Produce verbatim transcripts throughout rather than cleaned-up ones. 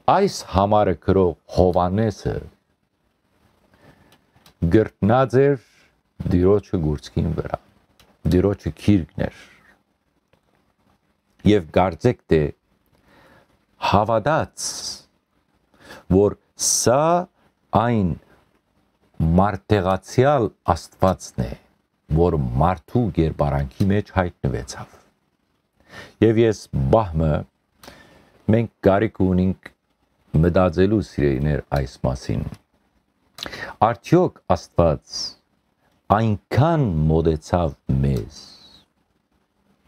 Այս համարը գրող Յովհաննէսը կրթնած էր Տիրոջը կուրծքին վրայ, Տիրոջը գիրկն էր։ Եւ կարծեք թէ հաւատաց, որ սա այն մարդեղացեալ Աստուածն է, որ մարդու կերպարանքի մէջ յայտնուեցաւ։ Եւ ես պահ մը, մենք կարիք ունինք մտածելու, սիրելիներ, այս մասին։ Արդեօք Աստուած այնքան մոտեցաւ մեզ,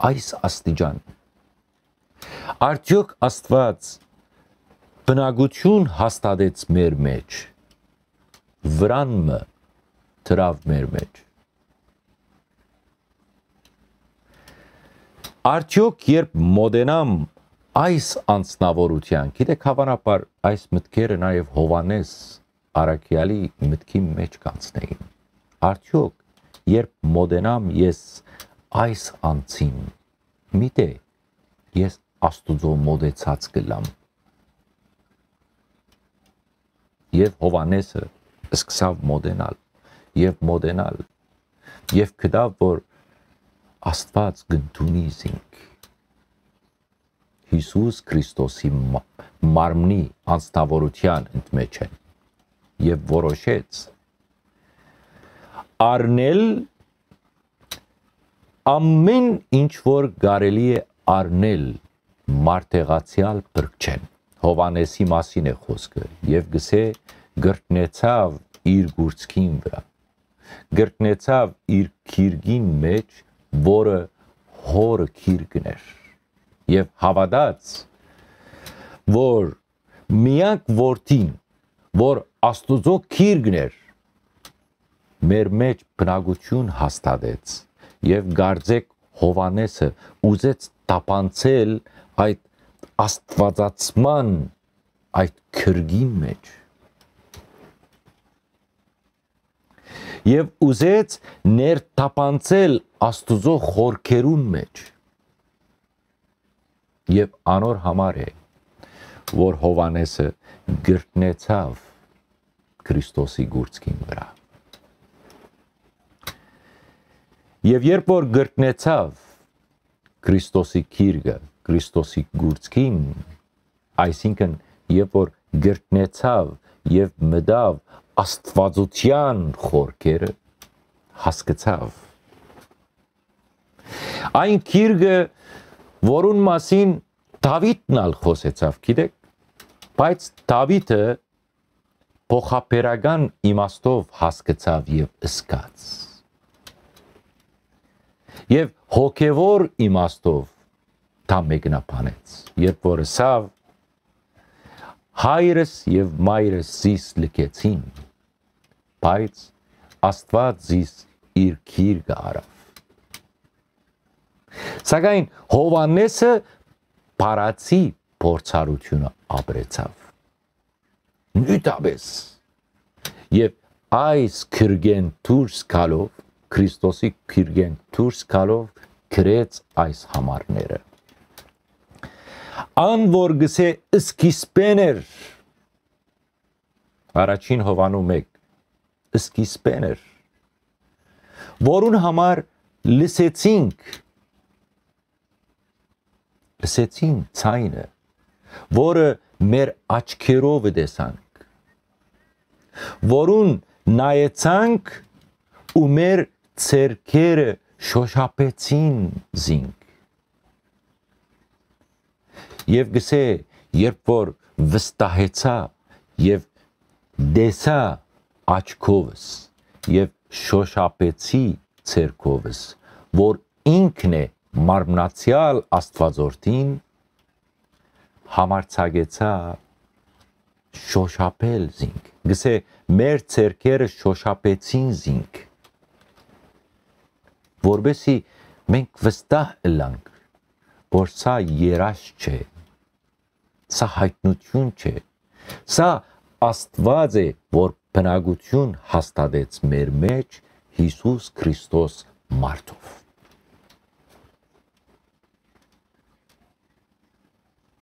այս աստիճան։ Արդեօք Աստուած բնակութիւն հաստատեց մեր մէջ, վրան մը դրաւ մեր մէջ։ Արդեօք երբ մոտենամ այս անձնաւորութեան, գիտեք, հաւանաբար այս մտքերը նաեւ Յովհաննէս առաքեալի մտքի մէջ կանցնեին։ Արդեօք երբ մոտենամ ես այս անձին, միտե ես Աստուծոյ մոտեցած կ'ըլլամ։ Եւ Յովհաննէսը սկսաւ մոտենալ եւ մոտենալ եւ գտաւ, որ Աստուած կ'ընդունի զինք Յիսուս Քրիստոսի մա-, մարմնի անձնաւորութեան ընդմէջէն եւ որոշեց առնել ամէն ինչ որ կարելի է առնել մարդեղացեալ փրկչէն։ Յովհաննէսի մասին է խօսքը եւ գսէ կրթնեցաւ իր կուրծքին վրայ, կրթնեցաւ իր գիրկին մէջ, որը Հօրը գիրկն էր, եւ հաւատաց, որ միակ Որդին, որ Աստուծոյ գիրկն էր, մեր մէջ բնակութիւն հաստատեց եւ կարծեք Յովհաննէսը ուզեց թափանցել այդ աստուածացման այդ գիրկին մէջ եւ ուզեց ներթափանցել Աստուծոյ խորքերուն մէջ։ Եւ անոր համար է, որ Յովհաննէսը կրթնեցաւ Քրիստոսի կուրծքին վրայ։ Եւ երբ որ կրթնեցաւ Քրիստոսի գիրկը, Քրիստոսի կուրծքին, այսինքն երբ որ կրթնեցաւ եւ մտաւ Աստուածութեան խորքերը, հասկցաւ այն գիրկը, որուն մասին Դաւիթն ալ խօսեցաւ, գիտեք, բայց Դաւիթը փոխաբերական իմաստով հասկցաւ եւ զգաց։ Եւ հոգեւոր իմաստով դա մեկնաբանեց, երբ որ ըսաւ. «Հայրս եւ մայրս զիս լքեցին, բայց Աստուած զիս իր գիրկը առաւ»։ Սակայն Յովհաննէսը բառացի փորձառութիւնը ապրեցաւ նիւթապէս։ Եւ այս գիրկէն դուրս գալով, Քրիստոսի գիրկէն դուրս գալով, գրեց այս համարները։ Ան որ գսէ սկիզբէն էր, առաջին Յովհաննու մէկ, սկիզբէն էր, որուն համար լսեցինք, լսեցին ձայնը, որը մեր աչքերովը տեսանք, որուն նայեցանք ու մեր ձեռքերը շոշափեցին զինք։ Եւ գսէ, երբ որ վստահեցայ եւ տեսայ աչքովս եւ շոշափեցի ձեռքովս, որ ինքն է մարմնացեալ Աստուածորդին, համարձակեցայ շոշափել զինք։ Գսէ, մեր ձեռքերը շոշափեցին զինք, որպեսզի մենք վստահ ըլլանք, որ սա երազ չէ, սա յայտնութիւն չէ, սա Աստուած է, որ բնակութիւն հաստատեց մեր մէջ Յիսուս Քրիստոս մարդով։